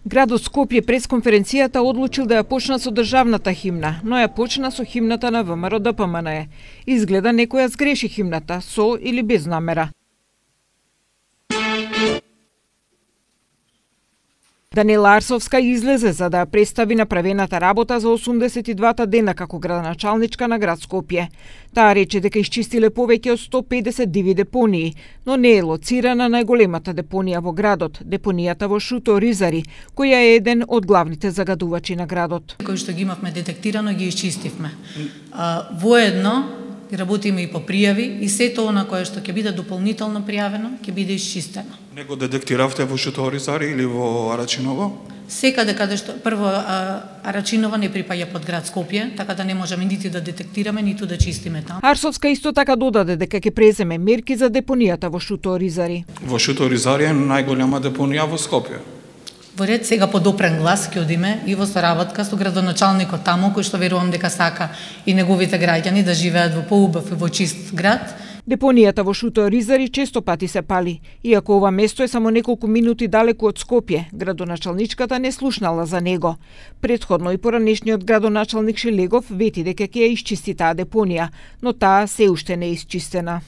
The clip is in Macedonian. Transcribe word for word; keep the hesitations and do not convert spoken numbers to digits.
Градот Скопје прес конференцијата одлучил да ја почна со државната химна, но ја почна со химната на ВМРО Д П М Н Е. Изгледа некоја сгреши химната, со или без намера. Даниела Арсовска излезе за да ја представи направената работа за осумдесет и двата дена како градоначалничка на град Скопје. Таа рече дека исчистиле повеќе од сто педесет диви депонии, но не е лоцирана најголемата депонија во градот, депонијата во Шуто Ризари, која е еден од главните загадувачи на градот. Кои што ги имавме детектирано, ги исчистивме. А, воедно работиме и по пријави и сето она кое што ќе биде дополнително пријавено, ќе биде исчистено. Не го детектиравте во Шуто Ризари или во Арачиново? Секаде каде што прво Арачиново не припаѓа под град Скопје, така да не можеме нити да детектираме, ниту да чистиме таму. Арсовска исто така додаде дека ќе преземе мерки за депонијата во Шуто Ризари. Во Шуто Ризари е најголема депонија во Скопје. Во ред сега по допрен глас ќе одиме и во соработка со градоначалникот таму, кој што верувам дека сака и неговите граѓани да живеат во поубав и во чист град. Депонијата во Шуто Ризари често пати се пали. Иако ова место е само неколку минути далеку од Скопје, градоначалничката не слушнала за него. Претходно и поранешниот градоначалник Шелегов вети дека ќе ја исчисти таа депонија, но таа се уште не е исчистена.